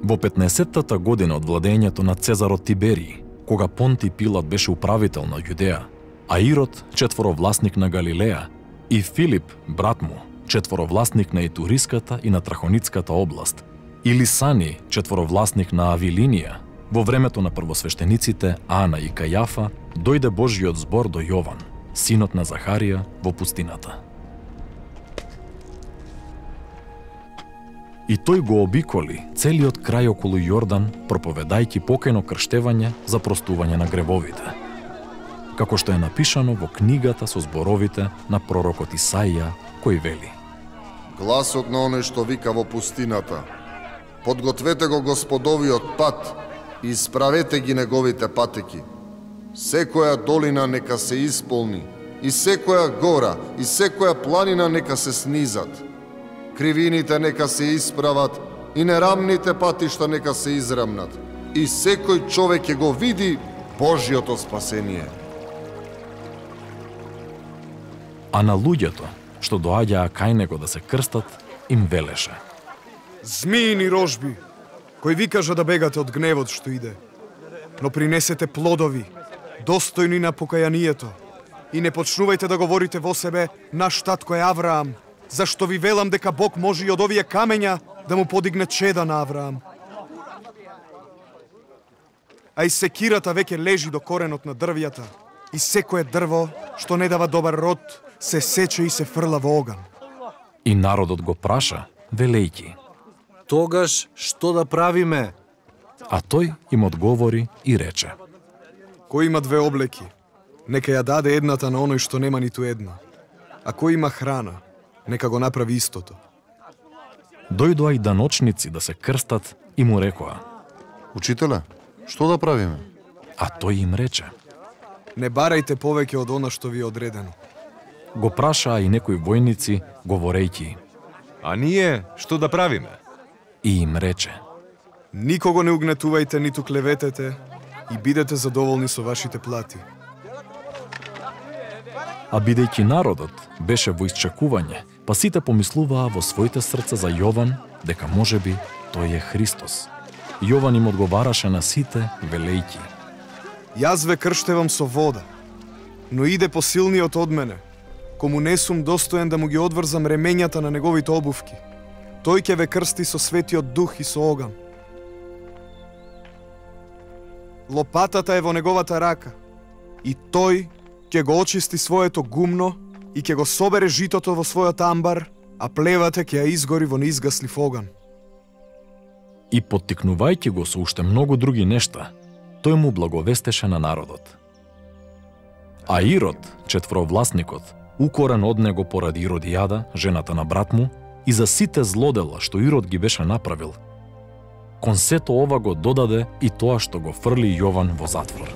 Во 15-тата година од владењето на Цезарот Тиберий, кога Понтий Пилат беше управител на Јудеја, а Ирод, четворовласник на Галилеја, и Филип, брат му, четворовласник на Итуриската и на Трахоницката област, и Лисани, четворовласник на Авилинија, во времето на првосвештениците Ана и Кајафа, дојде Божјиот збор до Јован, синот на Захарија, во пустината. И тој го обиколи целиот крај околу Јордан, проповедајќи покајно крштевање за простување на гревовите, како што е напишано во книгата со зборовите на пророкот Исаија, кој вели: Гласот на оној што вика во пустината: подгответе го Господовиот пат и исправете ги неговите патеки. Секоја долина нека се исполни, и секоја гора, и секоја планина нека се снизат. Кривините нека се исправат, и нерамните патишта нека се израмнат. И секој човек ќе го види Божјото спасение. А на луѓето, што доаѓаа кај него да се крстат, им велеше: Змиини рожби, кои ви кажа да бегате од гневот што иде, но принесете плодови, достојни на покајанието, и не почнувајте да говорите во себе: наш татко е Авраам, зашто ви велам дека Бог може и од овие камења да му подигне чеда на Авраам. А и секирата веќе лежи до коренот на дрвјата, и секое дрво што не дава добар род се сече и се фрла во оган. И народот го праша, велејќи: Тогаш што да правиме? А тој им одговори и рече: Кој има две облеки, нека ја даде едната на оној што нема ниту една. А кој има храна, нека го направи истото. Дојдоа и даночници да се крстат и му рекоа: Учителе, што да правиме? А тој им рече: Не барајте повеќе од она што ви е одредено. Го прашаа и некои војници, говорејќи: А ние што да правиме? И им рече: Никого не угнетувајте ниту клеветете и бидете задоволни со вашите плати. А бидејќи народот беше во исчекување, па сите помислуваа во своите срца за Јован дека можеби тој е Христос. Јован им одговараше на сите, велејќи: Јас ве крштевам со вода, но иде посилниот од мене, кому не сум достоен да му ги одврзам ремењата на неговите обувки. Тој ќе ве крсти со светиот дух и со оган. Лопатата е во неговата рака, и тој ќе го очисти своето гумно и ќе го собере житото во својот амбар, а плевата ќе ја изгори во неизгаслив оган. И поттикнувајќи го со уште многу други нешта, тој му благовестеше на народот. А Ирод, четворовласникот, укорен од него поради Иродијада, жената на брат му, и за сите злодела што Ирод ги беше направил, кон сето ова го додаде и тоа што го фрли Јован во затвор.